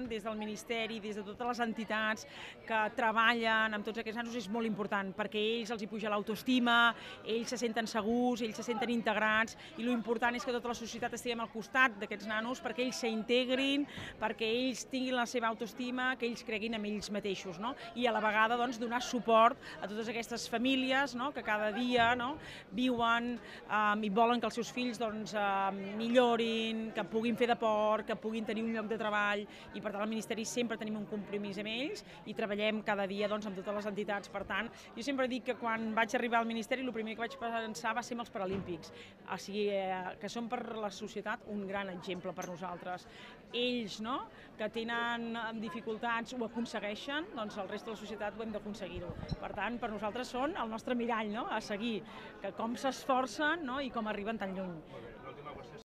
Des del Ministeri, des de totes les entitats que treballen amb tots aquests nanos és molt important, perquè ells els hi puja l'autoestima, ells se senten segurs, ells se senten integrats, i l'important és que tota la societat estiguem al costat d'aquests nanos perquè ells s'integrin, perquè ells tinguin la seva autoestima, que ells creguin en ells mateixos, no? I a la vegada doncs, donar suport a totes aquestes famílies, no? Que cada dia, no? Viuen i volen que els seus fills doncs, millorin, que puguin fer deport, que puguin tenir un lloc de treball, i per tant al Ministeri sempre tenim un compromís amb ells i treballem cada dia doncs, amb totes les entitats. Per tant, jo sempre dic que quan vaig arribar al Ministeri el primer que vaig pensar va ser en els Paralímpics, o sigui, que són per la societat un gran exemple per nosaltres. Ells, no?, que tenen dificultats ho aconsegueixen, doncs el resta de la societat ho hem d'aconseguir-ho. Per tant, per nosaltres són el nostre mirall, no?, a seguir, que com s'esforcen, no?, i com arriben tan lluny.